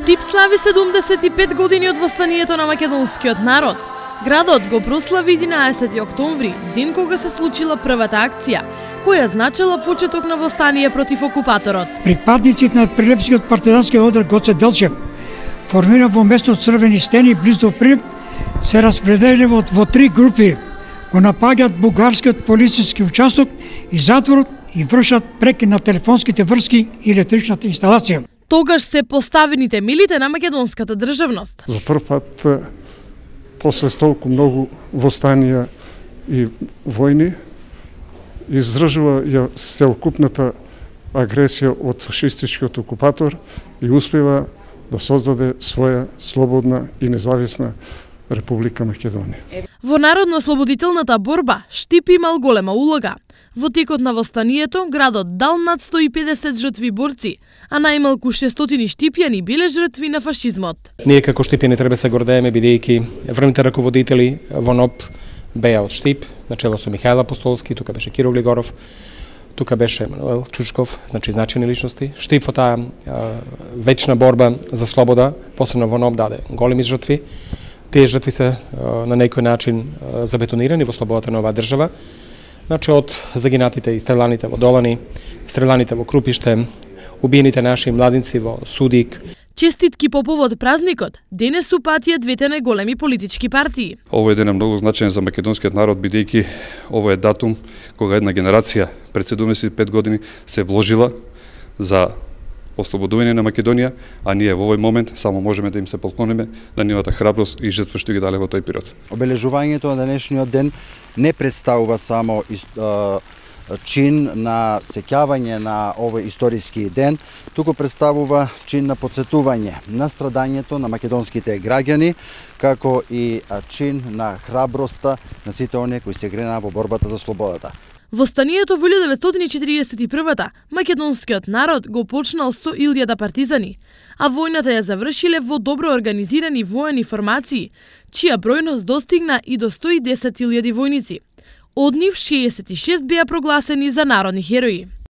Штип слави 75 години од востанието на македонскиот народ. Градот го прослави 11 октомври, ден кога се случила првата акција, која значила почеток на востание против окупаторот. Припадниците на Прилепскиот партизански одар Гоце Делчев, формиран во место Црвени стени близу до Прилеп, се распределени во три групи. Го напаѓаат бугарскиот полициски участок и затворот и вршат преки на телефонските врски и електричната инсталација. Тогаш се поставени темелите на македонската државност. За прв пат, после толку многу востанија и војни, издржува ја целокупната агресија од фашистичкиот окупатор и успева да создаде своја слободна и независна Република Македонија. Во народно-ослободителната борба Штип имал голема улога. Во текот на востанието градот дал над 150 жртви борци, а најмалку 600 штипјани биле жртви на фашизмот. Ние како штипјани треба се гордееме бидејќи врвните раководители во НОБ беа од Штип, начело со Михајл Апостолски, тука беше Киро Глигоров, тука беше Емануел Чучков, значени личности. Штип во таа вечна борба за слобода, посебно во НОБ даде големи жртви. Тие жртви се на некој начин забетонирани во слободата на оваа држава. Значи од загинатите и стреланите во Долани, стреланите во Крупиште, убиените наши младинци во Судик. Честитки по повод празникот денес упатија двете најголеми политички партии. Овој ден е многу значаен за македонскиот народ, бидејќи овој е датум кога една генерација пред 75 години се вложила за ослободување на Македонија, а ние во овој момент само можеме да им се поклониме на нивната храброст и жртва што ги дале во тој период. Обележувањето на денешниот ден не представува само чин на сеќавање на овој историски ден, туку представува чин на потсетување на страдањето на македонските граѓани, како и чин на храброста на сите оние кои се гренаа во борбата за слободата. Востанието во 1941-та македонскиот народ го почнал со 1000 партизани, а војната ја завршиле во добро организирани воени формации, чија бројност достигна и до 110.000 војници. Од нив 66 беа прогласени за народни херои.